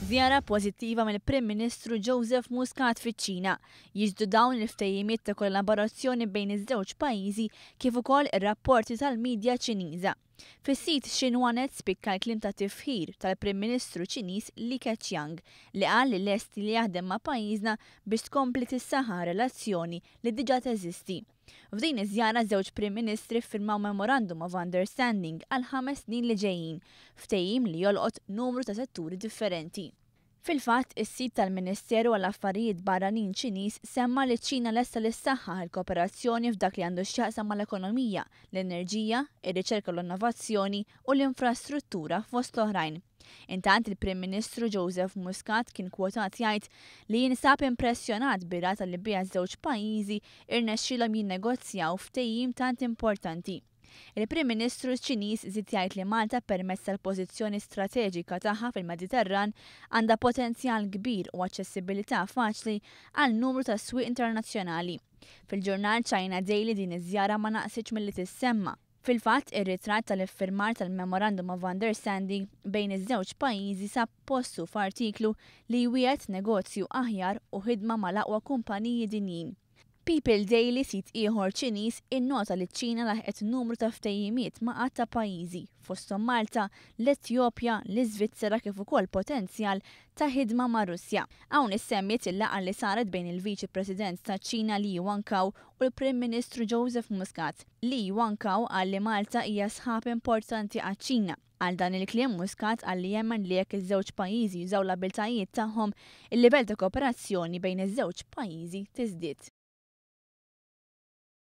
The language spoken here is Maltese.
Żjara pożittiva mill-Prim Ministru Joseph Muscat fiċ-Ċina. Jixhdu dawn il-ftehimiet ta' kollaborazzjoni bejn iż-żewġ pajjiżi kif ukoll ir-rapporti tal-midja Ċiniża. Fis-sit Xinhua Net spikka l-kliem ta' tifħir tal-Prim Ministru Ċiniż Li Keqiang li qal li lest li jaħdem ma' pajjiżna biex tkompli tissaħħaħ relazzjoni li diġà teżisti. F'din iż-żjara żewġ Prim Ministri ffirmaw Memorandum of Understanding għal 5 snin li ġejjin, ftehim li jolqot numru ta' setturi differenti. Fil-fatt, is-sit tal-Ministeru għall affarijiet Barranin Ċiniż semma li ċ-Ċina lesta li ssaħħaħ il-kooperazzjoni f'dak li għandu x'jaqsam mal-ekonomija, l-enerġija, ir-riċerka, l-innovazzjoni u l-infrastruttura, fost l-oħrajn. Intant, il-Prim Ministru Joseph Muscat kien kwotat jgħid li jinsab impressjonat bir-rata li biha żewġ pajjiżi irnexxielhom jinnegozjaw ftehim tant importanti. Il-Prim Ministru Ċiniż żied jgħid li Malta, permezz tal-pożizzjoni strateġika tagħha fil-Mediterran, għandha potenzjal kbir u aċċessibilità faċli għal numru ta' swieq internazzjonali. Fil-ġurnal China Daily din iż-żjara ma naqsitx milli tissemma. Fil-fatt, ir-ritratt tal-iffirmar tal-Memorandum of Understanding bejn iż-żewġ pajjiżi sab postu f'artiklu li jwiegħed negozju aħjar u ħidma mal-aqwa kumpaniji dinjin. People Daily, sit ieħor Ċiniż, innota li ċ-Ċina laħqet numru ta' ftehimiet ma' għadd ta' pajjiżi, fosthom Malta, l-Etjopja, l-Iżvizzera, kif ukoll potenzjal ta' ħidma ma' Russja. Hawn issemmiet il-laqgħa li saret bejn il-Viċi President ta' Ċina Li Yuankao u l-Prim Ministru Joseph Muscat. Li Yuankao qal li Malta hija sħab importanti għaċ-Ċina. Għal dan il-kliem, Muscat qal li jemmen li jekk iż-żewġ pajjiżi jużaw l-abiltajiet tagħhom, il-livell ta' kooperazzjoni bejn iż-żewġ pajjiżi tiżdied.